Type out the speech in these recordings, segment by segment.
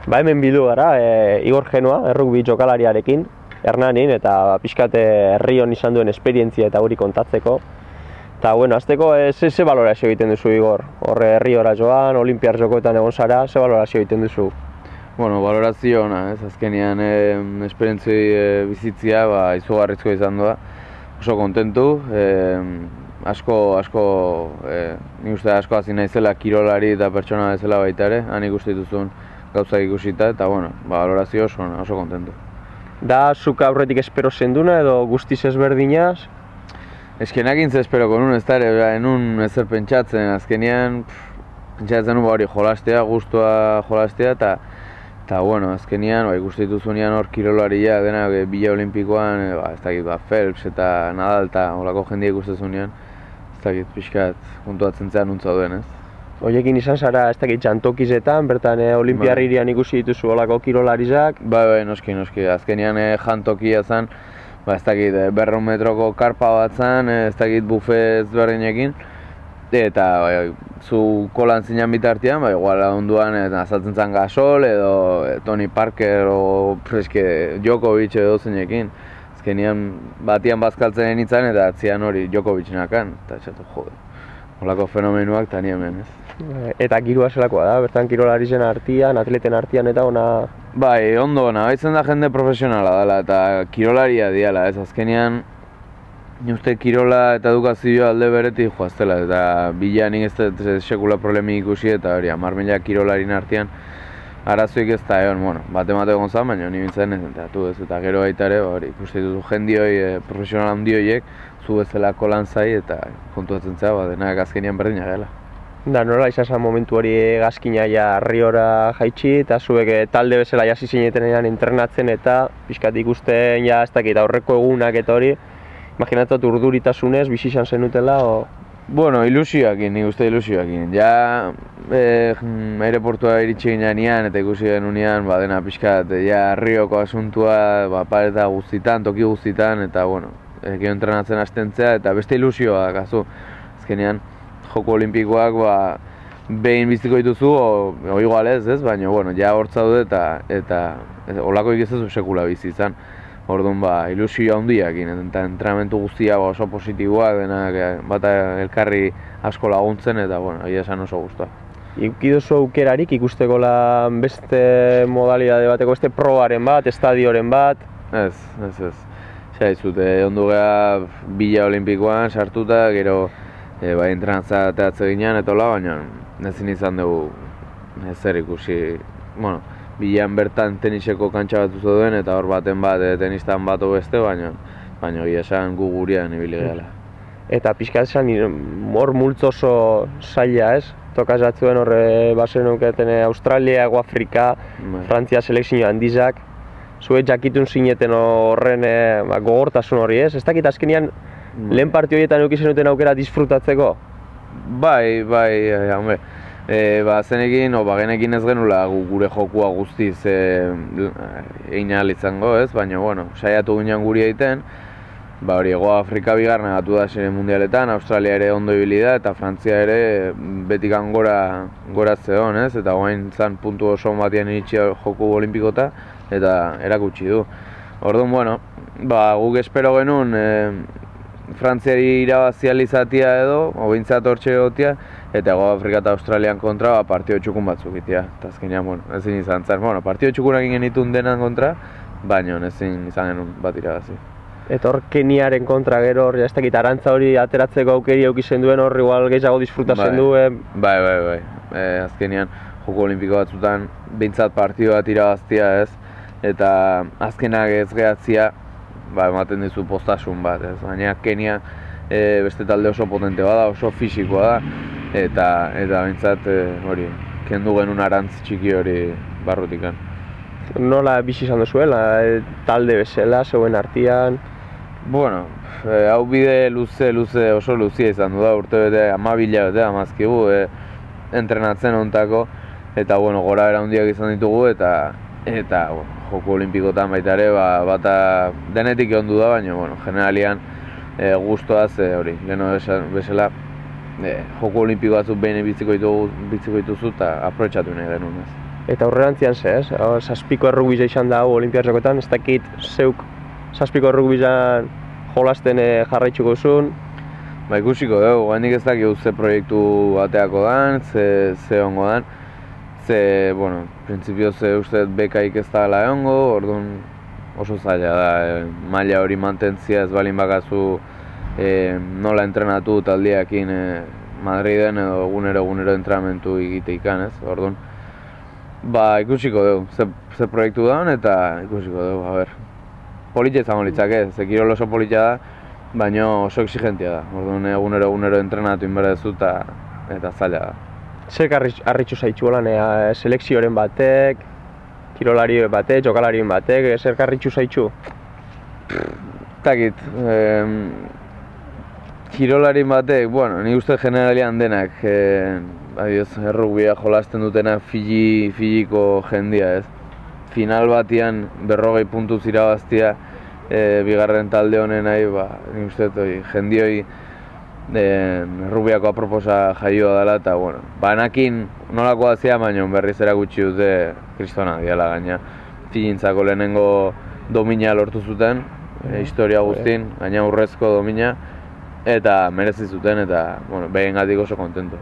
Ba hemen bildu gara, Igor Genoa, errugbi jokalariarekin, Hernanin, eta pixkat herri hon izan duen esperientzia eta hori kontatzeko. Eta, bueno, azteko, ze balorazio egiten duzu, Igor? Horre herri ora joan, Olimpiar jokoetan egon zara, ze balorazio egiten duzu? Bueno, balorazio ona, ez? Azkenean esperientzi bizitzia izugarrizko izan doa. Oso kontentu, nik uste asko hasi naizela kirolari eta pertsona bezala baita ere, han ikusi dituzun gauzak ikusita, eta bueno, balorazio oso kontentu. Da, zuk aurretik espero zenduna edo guztiz ezberdinaz? Eskenakin ze esperoko nun, ez da ere, enun ezer pentsatzen, azkenean pentsatzen nun hori jolastea, gustua jolastea, eta bueno, azkenean ikusi dituzunean hor kirolaria denak bila olimpikoan, ez dakit, Phelps eta Nadal eta holako jendia ikustezunean, ez dakit, pixkat kontuatzen zean nuntza duen, ez? Horiekin izan zara, ez dakit, jantokizetan, bertan Olimpiar hirian ikusi dituzu holako kirolarizak? Bai, noski, azkenean jantokia zen, ez dakit, 200 metroko karpa bat zen, ez dakit, buffet ezberdinekin, eta zu kolan zinan bitartean, igual onduan azaltzen zen Gasol edo Tony Parker o Djokovic edo zeinekin. Azkenean batian bazkaltzen nintzen eta atzian hori Djokovic nakan, eta esatu jode, holako fenomenuak eta ni hemen, ez? Eta girua zelakoa da, bertan kirolarizen artean, atleten artean eta ona... Bai, ondo ona, baitzen da jende profesionala dela eta kirolaria diala, ez? Azkenean ni uste kirola eta edukazioa alde beretik joaztela, eta bila nik ez sekula problemi ikusi eta hori, 10.000 kirolarin artean arazoik ez da egon, bueno, bate egon zan, baina ni bintzen ez enteatu ez, eta gero baita ere, hori, ikuste dituzu jendioi, profesional handi horiek, zu bezalako lan zai eta kontuatzen zera, denak azkenean berdina gela. Da, nola izan momentu hori gazkina Riora jaitsi, eta zuek talde bezala jasi zinetenean entrenatzen eta pixkat ikusten ez dakit aurreko egunak eta hori, imaginatzen urduritasunez, bizi izan zenutela, o... Bueno, ilusioakin, nik uste ilusioakin. Ja, aireportua iritsi ginean eta ikusi genunean, dena pixkat, ja, Rioko asuntua, pareta guztitan, toki guztitan, eta, bueno, gero entrenatzen hastentzea, eta beste ilusioa, kasu. Azkenean, Joko Olimpikoak, behin biziko dituzu, o igual ez, baina, bueno, ja hortza dut eta holako ikizezu sekula bizi izan. Orduan, ilusioa handiakin, eta entrenamentu guztia oso positiboak, denak bata elkarri asko laguntzen, eta, bueno, egia esan oso guztua. Ikukiduzu aukerarik ikusteko beste modalidade bateko, beste probaren bat, estadioren bat? Ez. Zaizut, ondu geha bila olimpikoan sartuta, gero entrenatza teatze ginean, eta hola, baina ezin izan dugu ezer ikusi, bueno, bilan bertan teniseko kantxa bat zuen eta hor baten bat tenistan bat beste, baina egia esan gu gurean ibili gehala. Eta pixka esan hor multzo oso zaila, ez? Tokazatzuen horre bazen uketen Australia, Afrika, Frantzia selekzio handizak. Zuek jakitun zineten horren gogortasun hori, ez? Ez dakit azkenean lehen parti horietan eukizen duten aukera disfrutatzeko? Bai, hombre. Zenekin, genekin ez genula gure jokua guztiz egin ahal izango, ez? Baina, bueno, saiatu ginen guri egiten, hori, Ego Afrika bigarren gatu da sere mundialetan, Australia ere ondo ibili da, eta Frantzia ere betikan gora zeon, ez? Eta guain zan puntu oso batian iritsi joku olimpikota, eta erakutsi du. Orduan, bueno, guk espero genuen Frantziari irabazializatia edo, obintzat hortxe egotia, eta Ego Afrika eta Australian kontra partio txukun batzuk itea. Eta azkenean, bueno, ezin izan zen. Bueno, partio txukunak genitun denan kontra, baina ezin izan genuen bat irabazi. Eta hor Keniaren kontra gero hor, ez dakit, arantza hori ateratzeko aukeri aukizen duen hor, igual gehiago disfrutatzen duen. Bai. Azkenean, Joko Olimpiko batzutan, behintzat partio bat irabaztia, ez? Eta azkenak ez gehatzia, ematen dizu postasun bat, ez? Baina Kenia beste talde oso potente bada, oso fisikoa da, eta behintzat hori, kendu genuen arantz txiki hori barrutikan. Nola bizi izan duzuela, talde bezala, zeuen artean? Bueno, hau bide luze, oso luzia izan du da, urte bete, 12 bete, amazkigu, entrenatzen ontako, eta, bueno, gora bera handiak izan ditugu, eta Joko Olimpikotan baita ere, bata denetik egon du da, baina, bueno, generalian guztuaz, hori, leheno bezala, Joko Olimpiko batzuk behin bitziko dituzu eta aprobetxatu nahi genuen, ez. Eta aurrerantzian ze, ez? Zazpiko errugbiza izan da hau olimpiatxokotan, ez dakit zeuk zazpiko errugbizan jolasten jarraitzuko zuen. Ba, ikusiko dugu, handik ez dakik ze proiektu bateako dan, ze ongo dan. Ze, bueno, printzipioz uste bekaik ez da gala egongo, orduan oso zaila da, maila hori mantentzia ez balin bakazu nola entrenatu taldeakin Madriden edo egunero entrenamentu egiteikan, ez? Orduan, ba, ikusiko dugu, ze proiektu daun eta ikusiko dugu, a ber. Politia izango litzake, ze kirol oso politia da, baina oso exigentia da. Orduan, egunero entrenatu inberdezu eta zaila da. Zer harritxu zaitxu lan, selekzioren batek, kirolari batek, jokalarien batek, zer harritxu zaitxu? Takit, kirolarin batek, bueno, nik uste generalian denak, errugbia jolasten dutena fiziko jendia, ez? Final batian 40 puntuz irabaztia bigarren talde honen nahi, nik uste jendioi errugbiako aproposa jaioa dela eta, bueno, banakin nolakoa zia, baina berriz erakutsi dute kristona diala gaina. Filintzako lehenengo domina lortu zuten, historia guztin, gaina urrezko domina, eta merezi zuten eta, bueno, behengatik oso kontento.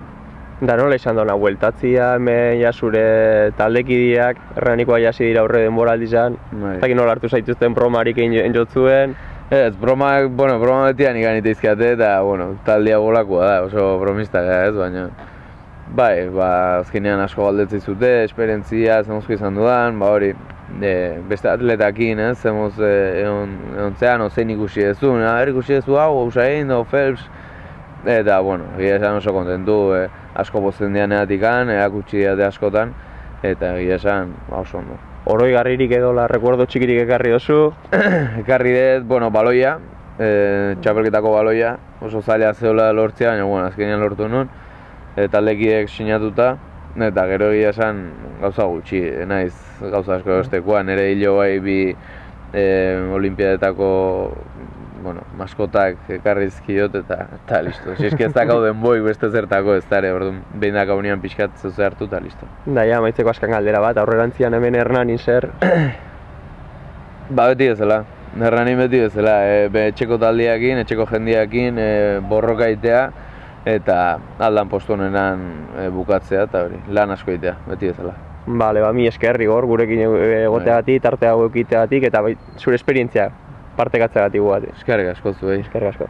Da nola izan duna, bueltatzia, hemen zure taldekideak, erranikoa jasi dira aurre denboraldizan, eta nola hartu zaituzten bromarik enjotzuen. Ez, broma betian ikan iteizkiate eta, bueno, taldea bolakoa da, oso bromista gara ez, baina bai, azkenean asko galdetzei zute, esperientzia, zemozko izan dudan, hori, beste atletakin, ez, zemoz egontzean, zein ikusi dezun, ikusi dezu hau, Usain, Phelps, eta, bueno, egia esan oso kontentu, asko pozten dianeatikan, erakutsi diate askotan, eta egia esan oso ondo. Oroigarririk edo recuerdo txikirik ekarri dozu? Ekarri dut, bueno, baloia, txapelketako baloia, oso zaila zeola lortzea, baina, bueno, azkenean lortu nuen, taldekideek sinatuta, eta gero egia esan gauza gutxi, naiz gauza asko estekoa, nire hilo bai bi olimpiadetako maskotak ekarrizkiot eta listo. Si eski ez dakau denboik beste zertako ez dara, orduan behin dakau nian pixkat zeuze hartu eta listo. Da, ja, maitzeko askan galdera bat, aurrerantzian hemen Hernanin zer? Ba, beti bezala. Hernanin beti bezala. Etxeko taldeakin, etxeko jendiakin borroka itea eta aldan postu honenan bukatzea eta hori, lan asko itea, beti bezala. Bale, mi esker Igor, gurekin egoteagatik, tarte hau eukiteagatik eta zure esperientzia partekatzeagatik gugatik. Eskerrik asko zuei. Eskerrik asko.